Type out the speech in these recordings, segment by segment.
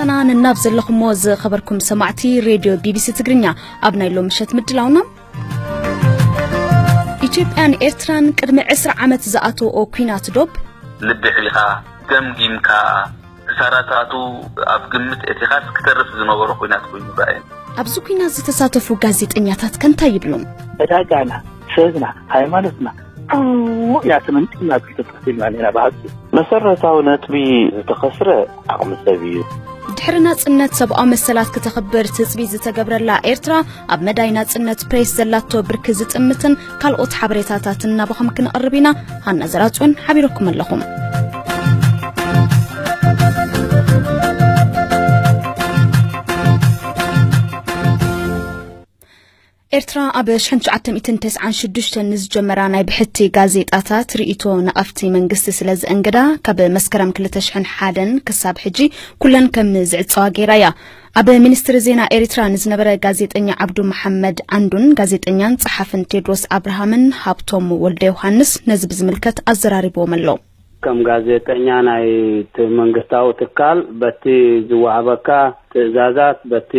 ኣና ንናብ ዘለኹሞ ዝኸበርኩም ሰማዕቲ ሬድዮ ቢቢሲ ትግርኛ፣ ኣብ ናይ ሎም ምሸት ምድላውና፣ ኢትዮጵያን ኤርትራን ቅድሚ ዕስራ ዓመት ዝኣተወኦ ኲናት ዶብ፣ ልቢ ሒኻ፣ ገምጊምካ፣ ክሳራታቱ ኣብ ግምት እቲኻስ ክተርፍ ዝነበሮ ኲናት ኮይኑ ረኣየ። ኣብዚ ኲናት ዝተሳተፉ ጋዜጠኛታት ከ እንታይ ይብሉ? ዕዳጋና፣ ሰብና፣ ሃይማኖትና፣ ዕዉዕ እያ ተመንጢልና ኣብ ኢትዮጵያ ኢልና ብሓቂ። መሰረታዊ ነጥቢ ዝተኸስረ ዓቕሚ ሰብ እዩ። ድሕሪ ናጽነት ሰብኣዊ መሰላት ክተኽብር ትጽቢት ዝተገብረላ ኤርትራ፣ ኣብ መዳይ ናጽነት ፕሬስ ዘላቶ ብርኪ ዝጥምትን ካልኦት ሓበሬታታትን ናባኹም ክንቕርብ ኢና። ሃና ዘራጽዮን ሓቢረኩም ኣለኹም። ኤርትራ ኣብ ሽሕን ትሽዓተ ሚእትን ተስዓን ሽዱሽተን ንዝጀመራ ናይ ብሕቲ ጋዜጣታት ርእይቶ ነቐፍቲ መንግስቲ ስለ ዘእንግዳ፣ ካብ መስከረም ክልተ ሽሕን ሓደን ክሳብ ሕጂ ኩለን ከም ዝዕጸዋ ገይራ እያ። ኣብ ሚኒስትሪ ዜና ኤሪትራ ንዝነበረ ጋዜጠኛ ዓብዱ መሓመድ ዓንዱን ጋዜጠኛን ጸሓፍን ቴድሮስ ኣብርሃምን ሃብቶም ወልደ ዮሃንስ ነዚ ብዝምልከት ኣዘራሪብዎም ኣሎ። ከም ጋዜጠኛ ናይቲ መንግስታዊ ትካል በቲ ዝወሃበካ ትእዛዛት፣ በቲ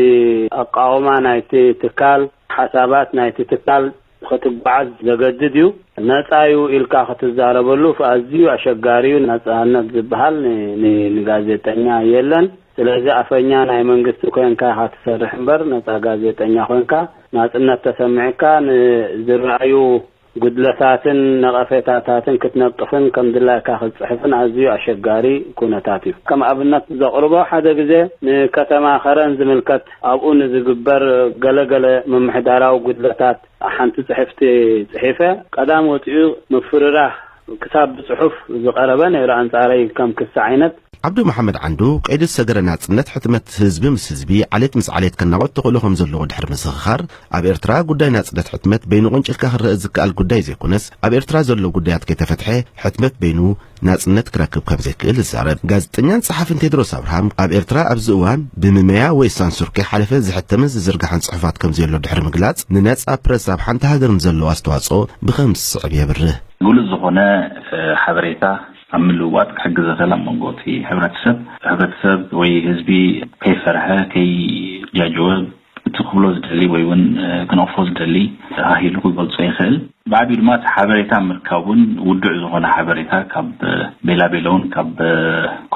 ኣቃውማ ናይቲ ትካል ሓሳባት ናይቲ ትካል ክትጓዓዝ ዘገድድ እዩ። ነጻ እዩ ኢልካ ክትዛረበሉ ኣዝዩ ኣሸጋሪ እዩ። ነጻነት ዝበሃል ን-፣ ን-፣ ንጋዜጠኛ የለን። ስለዚ ኣፈኛ ናይ መንግስቲ ኮንካ ኢኻ ትሰርሕ እምበር፣ ነጻ ጋዜጠኛ ኮንካ ናጽነት ተሰሚዕካ ንዝረኣዩ ጉድለታትን ነቐፌታታትን ክትነቅፍን ከም ድላይካ ክትጽሕፍን ኣዝዩ ኣሸጋሪ ኩነታት እዩ። ከም ኣብነት ዘቕርቦ፣ ሓደ ግዜ ንከተማ ከረን ዝምልከት ኣብኡ ንዝግበር ገለገለ ምምሕዳራዊ ጉድለታት ሓንቲ ጽሕፍቲ ጽሒፈ፣ ቀዳም ወጺኡ ምፍርራህ ክሳብ ብጽሑፍ ዝቐረበ ነይሩ ኣንጻረይ ከም ክሲ ዓይነት። ዓብዱ መሓመድ ዓንዱ ቀይዲ ዝሰገረ ናጽነት ሕትመት ህዝቢ ምስ ህዝቢ፣ ዓሌት ምስ ዓሌት ከናቖት ተኽእሎ ከም ዘለዎ ድሕሪ ምስኽኻር፣ ኣብ ኤርትራ ጉዳይ ናጽነት ሕትመት በይኑ ቆንጭልካ ክረአ ዝከኣል ጉዳይ ዘይኮነስ፣ ኣብ ኤርትራ ዘሎ ጉዳያት ከይተፈትሐ ሕትመት በይኑ ናጽነት ክረክብ ከም ዘይክእል ይዛረብ። ጋዜጠኛን ጸሓፍን ቴድሮስ ኣብርሃም ኣብ ኤርትራ ኣብዚ እዋን ብምመያ ወይ ሳንሱር ከይሓለፈ ዝሕተምን ዝዝርጋሕን ጽሑፋት ከም ዘየሎ ድሕሪ ምግላጽ፣ ንነጻ ፕረስ ኣብ ሓንቲ ሃገር ንዘለዎ ኣስተዋጽኦ ብኸም ዝስዕብ የብርህ። ግሉጽ ዝኾነ፣ እ፣ ሓበሬታ ኣብ ምልውዋጥ ክሕግዝ ይኽእል። ኣብ መንጎ እቲ ሕብረተሰብ፣ ሕብረተሰብ ወይ ህዝቢ ከይፈርሐ፣ ከይጃጀወ፣ እቲ ክብሎ ዝደሊ ወይ እውን፣ እ፣ ክነቕፎ ዝደሊ ተሃሂሉ ክገልጾ ይኽእል። ብዓቢኡ ድማ እቲ ሓበሬታ ምርካብ እውን ውዱዕ ዝኾነ ሓበሬታ ካብ፣ እ፣ ቤላቤሎ እውን ካብ፣ እ፣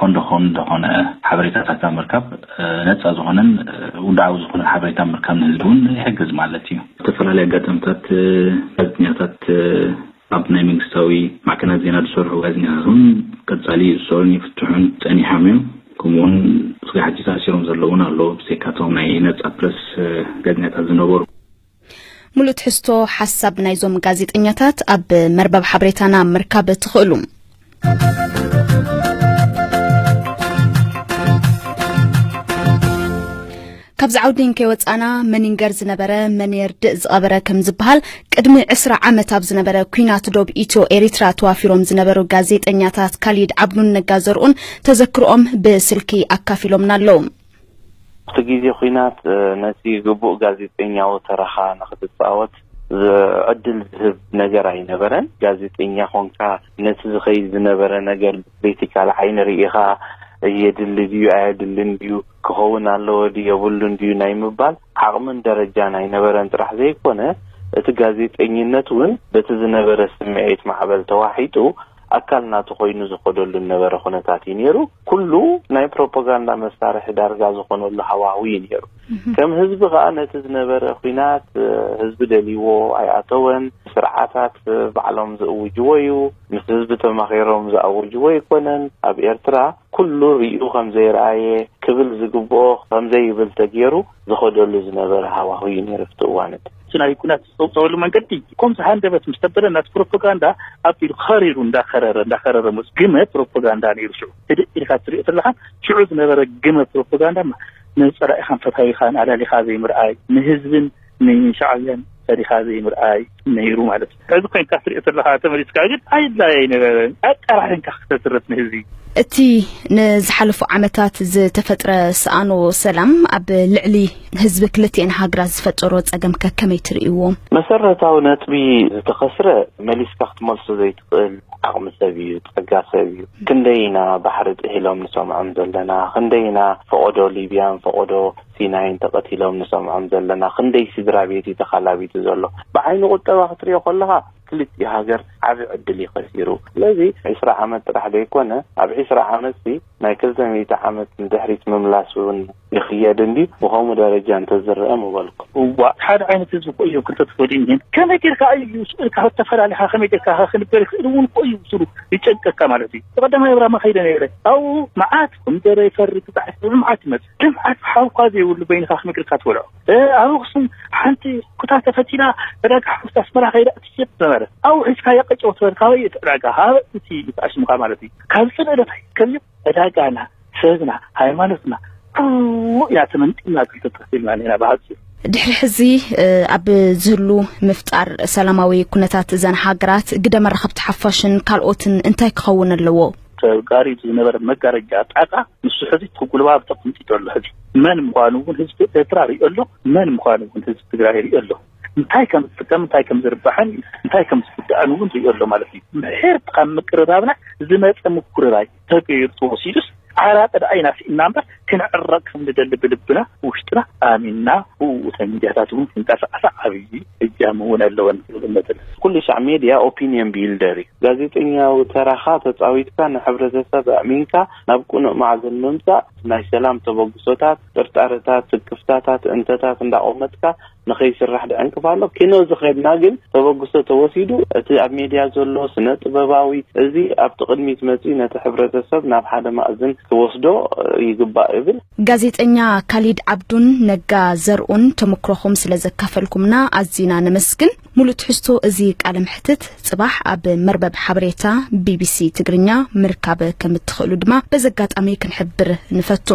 ኮንዶኾን ዝኾነ ሓበሬታታት ምርካብ፣ እ፣ ነጻ ዝኾነን፣ እ፣ ውድዓዊ ዝኾነን ሓበሬታ ምርካብ ንህዝቢ እውን ይሕግዝ ማለት እዩ። ዝተፈላለዩ ኣጋጣሚታት፣ እ፣ ጋዜጠኛታት፣ እ፣ ኣብ ናይ መንግስታዊ ማዕከናት ዜና ዝሰርሑ ጋዜጠኛታት እውን ቀጻሊ ይእሰሩን ይፍትሑን ጸኒሖም እዮም። ከምኡውን ስጋይ ሕጂ ተኣሲሮም ዘለዉ እውን ኣለዉ፣ ብዘይካቶም ናይ ነጻ ፕረስ፣ እ፣ ጋዜጠኛታት ዝነበሩ። ሙሉእ ትሕዝቶ ሓሳብ ናይዞም ጋዜጠኛታት ኣብ መርበብ ሓበሬታና ምርካብ ትኽእሉ። ካብዚ ዓውዲ እንከይወጻና፣ መን ይንገር ዝነበረ መን የርድእ ዝቐበረ ከም ዝበሃል፣ ቅድሚ ዕስራ ዓመት ኣብ ዝነበረ ኲናት ዶብ ኢትዮ ኤሪትራ ተዋፊሮም ዝነበሩ ጋዜጠኛታት ካሊድ ዓብዱን ነጋ ዘርኡን ተዘክሮኦም ብስልኪ ኣካፊሎምና ኣለዉ። ኣብቲ ግዜ ኲናት፣ እ፣ ነቲ ግቡእ ጋዜጠኛዊ ተራኻ ንኽትጻወት ዝ-፣ ዕድል ዝህብ ነገር ኣይነበረን። ጋዜጠኛ ኾንካ ነቲ ዝኸይድ ዝነበረ ነገር ብክሪቲካል ዓይኒ ርኢኻ፣ የድሊ ድዩ ኣየድልን ድዩ፣ ክኸውን ኣለዎ ድዩ የብሉን ድዩ ናይ ምባል ዓቕምን ደረጃን ኣይነበረን ጥራሕ ዘይኮነ፣ እቲ ጋዜጠኝነት እውን በቲ ዝነበረ ስምዒት ማዕበል ተዋሒጡ ኣካል ናቱ ኮይኑ ዝኸደሉ ዝነበረ ኩነታት እዩ ነይሩ። ኩሉ ናይ ፕሮፓጋንዳ መሳርሒ ዳርጋ ዝኾነሉ ሃዋህው እዩ ነይሩ። ከም ህዝቢ ከኣ ነቲ ዝነበረ ኲናት፣ እ፣ ህዝቢ ደልይዎ ኣይኣተወን። ስርዓታት፣ እ፣ ባዕሎም ዝእውጅዎ እዩ። ምስ ህዝቢ ተማኺሮም ዝኣውጅዎ ኣይኮነን። ኣብ ኤርትራ ኩሉ ሪኡ ከም ዘይረኣየ፣ ክብል ዝግብኦ ከም ዘይብል ተገይሩ ዝኸደሉ ዝነበረ ሃዋህው እዩ ነይሩ ኣብቲ እዋን እቲ። እቲ ናይ ኲናት ዝጸውጸወሉ መንገዲ ከምዚ ሃንደበት ምስ ተበለ ናቲ ፕሮፓጋንዳ ኣቢሉ ከሪሩ እንዳኸረረ፣ እንዳኸረረ መጽ-፣ ግመ ፕሮፓጋንዳ ነይሩ ሽዑ። ህድእ ኢልካ ትሪኦ ተለኻ ሽዑ ዝነበረ ግመ ፕሮፓጋንዳ ማ-፣ ንጸላኢኻን ፈታዊኻን ኣላሊኻ ዘይምርኣይ፣ ንህዝብን ንሻዕብያን ፈሪኻ ዘይምርኣይ ነይሩ ማለት እዩ። ሕዚ ኮይንካ ትሪኦ ተለኻ ተመሊስካ ግን ኣይድላይ ኣይነበረን። ኣቀራሪንካ ክተትርፍ ንህዝቢ። እቲ ንዝሓለፉ ዓመታት ዝተፈጥረ ሰኣኖ ሰላም ኣብ ልዕሊ ህዝቢ ክልቲኤን ሃገራት ዝፈጠሮ ጸገም ከ ከመይ ትርእይዎ? መሰረታዊ ነጥቢ ዝተኸስረ መሊስካ ክትመልሶ ዘይትኽእል ዓቕሚ ሰብ እዩ፣ ጸጋ ሰብ እዩ። ክንደይ ኢና ባሕሪ ጥሒሎም ንሰምዖም ዘለና፣ ክንደይ ኢና ፈቐዶ ሊብያን ፈቐዶ ሲናይን ተቐቲሎም ንሰምዖም ዘለና፣ ክንደይ ስድራ ቤት እዩ ተኻላቢቱ ዘሎ። ብዓይኒ ቁጠባ ክትሪኦ ከለኻ ክልቲኡ ሃገር ዓቢ ዕድል እዩ ከሲሩ። ስለዚ ዒስራ ዓመት ጥራሕ ዘይኮነ፣ ኣብ ዒስራ ዓመትሲ ናይ ክልተ ሚእቲ ዓመት ንድሕሪት ምምላስ እውን ይኽየድ እንድዩ። ብኸምኡ ደረጃ እንተዝረአ ምበልኩ። እዋ፣ ሓደ ዓይነት ህዝቢ እኮ እዮም ክልተ ተፈሊዮም። ከመይ ጌርካ እዩ ስእልካ ተፈላሊኻ ከመይ ጌርካ ክንበር ይኽእል እውን እኮ እዩ ስሉ ይጨንቀካ ማለት እዩ። ብቐዳማይ ኣብራማ ከይደ ነይረ። ኣብኡ መዓት ኮሚደረ ይፈሪ፣ ክጣዕ ይፈሪ፣ መዓት ይመጽእ። ልምዓት ሓውካ ዘይብሉ በይንኻ ከመይ ጌርካ ትበልዖ? እ፣ ኣብ ኣኽሱም ሓንቲ ኩታ ተፈቲላ ዕዳጋ ሓሙስ ኣስመራ ከይዳ ትሸጥ ነበረ። ኣብኡ ሒዝካዮ ቀጨው ትበል፣ ካበይ እቲ ዕዳጋ? ካብ እቲ ተኣሽምካ ማለት እዩ። ካብ ጽልእነት ኣይከብዩ ዕዳጋና፣ ሰብና፣ ሃይማኖትና፣ ኩሉ ኢና ተመንጢልና ክልተ ተኸፊልና ኔና ብሓጺሩ። ድሕሪ ሕዚ፣ እ፣ ኣብ ዝህሉ ምፍጣር ሰላማዊ ኩነታት እዘን ሃገራት ግደ መራኸብቲ ሓፋሽን ካልኦትን እንታይ ክኸውን ኣለዎ? ተጋሪዱ ዝነበረ መጋረጃ ጣቃ ንሱ ሕዚ ክጉልባብ ተቐምጢጡ ኣሎ። ሕዚ መን ምዃኑ እውን ህዝቢ ኤርትራ ሪኦ ኣሎ፣ መን ምዃኑ እውን ህዝቢ ትግራይ ሪኦ ኣሎ። እንታይ ከም ዝጥቀም፣ እንታይ ከም ዝርባሕን እንታይ ከም ዝጉዳእን እውን ሪኦ ኣሎ ማለት እዩ። ምሕር ካብ ምቅርራብና ዝመፀ ምኩርራይ ተገይሩ ተወሲዱስ ዓራቂ ደኣ ኢና ስኢንና እምበር ክንዕረቅ ከም ንደሊ ብልብና ውሽጥና ኣሚንና ብኡ እተን ሚድያታት እውን ክንቀሳቀሳ ዓብዪ እጃም እውን ኣለወን ክብል እምነት ኣለኒ። ኩሉ ሻዕ ሜድያ ኦፒንየን ቢልደር እዩ። ጋዜጠኛዊ ተራኻ ተጻዊትካ ንሕብረተሰብ ኣዕሚንካ ናብ ቅኑዕ ማዕዘን ምምጻእ ናይ ሰላም ተበግሶታት፣ ጥርጣረታት፣ ስክፍታታት፣ እንተታት እንዳቆመጥካ ንኸይስራሕ ድዕንቅፋ ኣሎ። ኪኖ ዝኸድና ግን ተበግሶ ተወሲዱ እቲ ኣብ ሜድያ ዘሎ ስነ ጥበባዊ እዚ ኣብቲ ቅድሚት መጺኡ ነቲ ሕብረተሰብ ናብ ሓደ ማእዝን ክወስዶ ይግባእ እብል። ጋዜጠኛ ካሊድ ዓብዱን ነጋ ዘርኡን ተመክሮኹም ስለ ዘካፈልኩምና ኣዚና ነመስግን። ሙሉእ ትሕዝቶ እዚ ቃለ መሕትት ጽባሕ ኣብ መርበብ ሓበሬታ ቢቢሲ ትግርኛ ምርካብ ከም እትኽእሉ ድማ በዚ ኣጋጣሚ ክንሕብር ንፈቱ።